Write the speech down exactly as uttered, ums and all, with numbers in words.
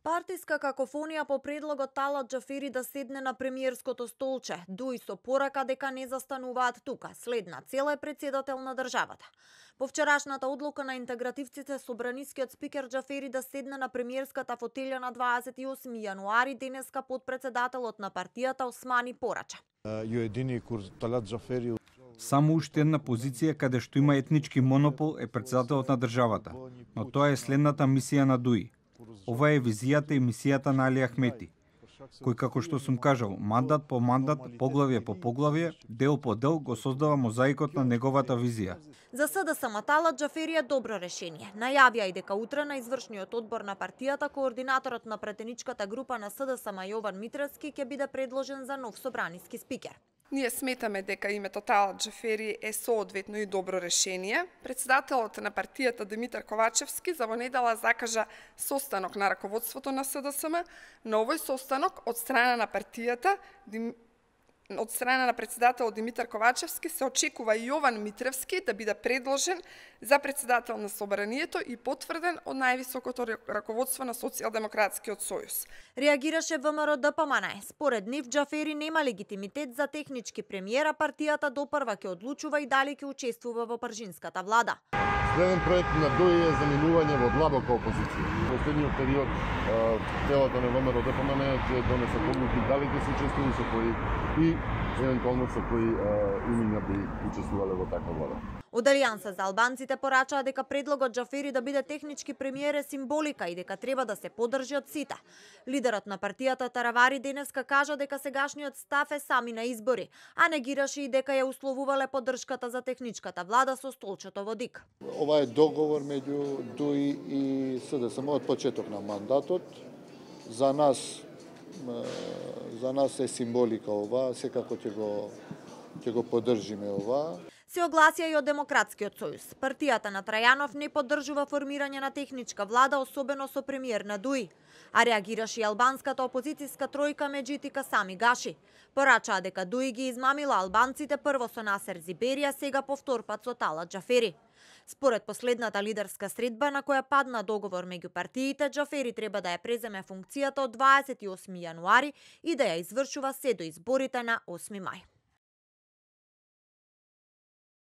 Партиска какофонија по предлогот Талат Џафери да седне на премиерското столче. Дуи со порака дека не застануваат тука. Следна цел е председател на државата. По вчерашната одлука на интегративците, собранискиот спикер Џафери да седне на премиерската фотелја на дваесет и осми јануари, денеска подпредседателот на партијата Османи порача. Само уште една позиција каде што има етнички монопол е председателот на државата, но тоа е следната мисија на Дуи. Ова е визијата и мисијата на Али Ахмети, кој, како што сум кажал, мандат по мандат, поглавје по поглавје, дел по дел го создава мозаикот на неговата визија. За СДСМ Талат Џафери е добро решение. Најавија и дека утре на извршниот одбор на партијата координаторот на претеничката група на СДСМ Јован Митревски ќе биде предложен за нов собраниски спикер. Ние сметаме дека името Талат Џафери е соодветно и добро решение. Председателот на партијата Димитар Ковачевски за во недела закажа состанок на раководството на СДСМ. На овој состанок од страна на партијата од страна на председател Димитар Ковачевски се очекува Јован Митревски да биде предложен за председател на собранието и потврден од највисокото раководство на Социјалдемократскиот сојуз. Реагираше ВМРО Д П М Н. Според нив Џафери нема легитимитет за технички премиера, партијата допрва ќе одлучува и дали ќе учествува во пржинската влада. Следен проект на Дуи е заминување во длабока опозиција. Во следниот период телото на ВМРО Д П М Н ќе донесе одлуки дали ќе се учествува со кои и евентуално со кои имиња би учествувале во таква влада. Од Алијанса за албанците порачаа дека предлогот Џафери да биде технички премиер е символика и дека треба да се поддржи од сите. Лидерот на партијата Таравари денеска кажа дека сегашниот став е сами на избори, а негираше и дека ја условувале поддршката за техничката влада со столчето во ДИК. Ова е договор меѓу Дуи и СДСМ од почеток на мандатот. За нас за нас е символика ова, секако ќе го ќе го поддржиме ова. Се огласија и од Демократскиот сојуз. Партијата на Трајанов не поддржува формирање на техничка влада, особено со премиер на Дуи. А реагираше и албанската опозицијска тројка Меджитика Сами Гаши. Порачаа дека Дуи ги измамила албанците прво со Насер Зибери, сега повтор пат со Талат Џафери. Според последната лидерска средба на која падна договор меѓу партиите, Џафери треба да ја преземе функцијата од дваесет и осми јануари и да ја извршува се до изборите на осми мај.